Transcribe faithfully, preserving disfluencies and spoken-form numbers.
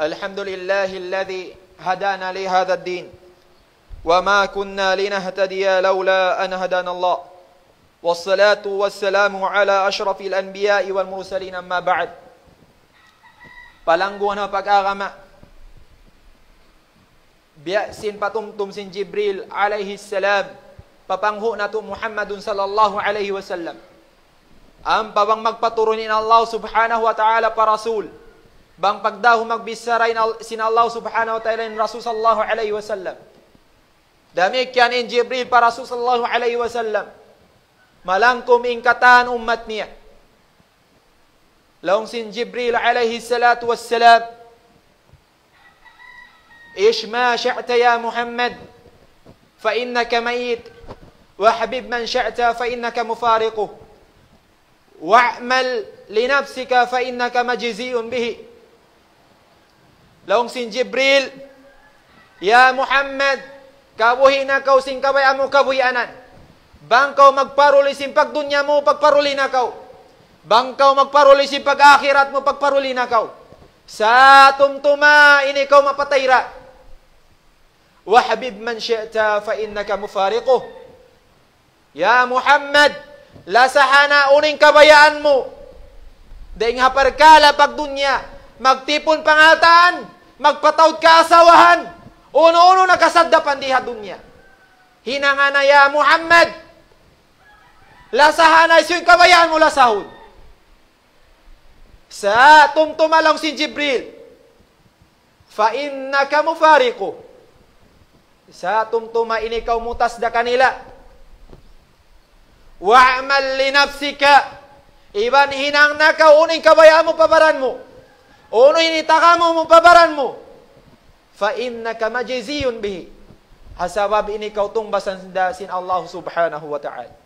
الحمد لله الذي هدانا لهذا الدين وما كنا لنهتدي لولا أن هدانا الله. والصلاة والسلام على أشرف الأنبياء والمرسلين، أما بعد. Palangguan ha pag-agama, biya' sin patumtum sin Jibril alayhi salam pa panghu' natu' Muhammadun sallallahu alayhi wasallam. Ampa bang magpaturun in Allah subhanahu wa ta'ala pa Rasul, bang pagdahu magbichara in Al-, sin Allah subhanahu wa ta'ala in Rasul sallallahu alayhi wasallam. Damikkiyan in Jibril pa Rasul sallallahu alayhi wasallam. Malangkum in katan ummat niya. Laung sin Jibril alayhi salatu wassalam, عش ما شئت يا محمد فإنك ميت، وأحبب من شئت فإنك مفارقه، واعمل لنفسك فإنك مجزي به. Laung sin Jibril, "Ya Muhammad, kabuhi' na kaw sin kabayaan mu kabuhianan. Bang kaw magparuli sin pagdunya mu, pagparuli na kaw. Bang kaw magparuli sin pag-akhirat mu, pagparuli na kaw. Sa' tumtuma in ikaw mapatay ra. وأحبب من شئت فإنك مفارقه." Ya Muhammad, lasaha na unu in kabayaan mu. Dayn ha parkala' pagdunya, magtipun pangaltaan, magpataud kaasawahan, unu-unu na kasaddapan di ha dunya. Hinanga na ya Muhammad, lasaha na hisiyu in kabayaan mu lasahun. Sa' tumtuma laung sin Jibril, فإنك مفارقه. Sa' tumtuma in ikaw mutas da kanila. واعمل لنفسك. Iban hinang na kaw unu in kabayaan mu pa baran mu. Unu in itagamu mu pa baran mu. فإنك مجزي به. Ha sabab in ikaw tungbasan da sin Allah subhanahu wa ta'ala.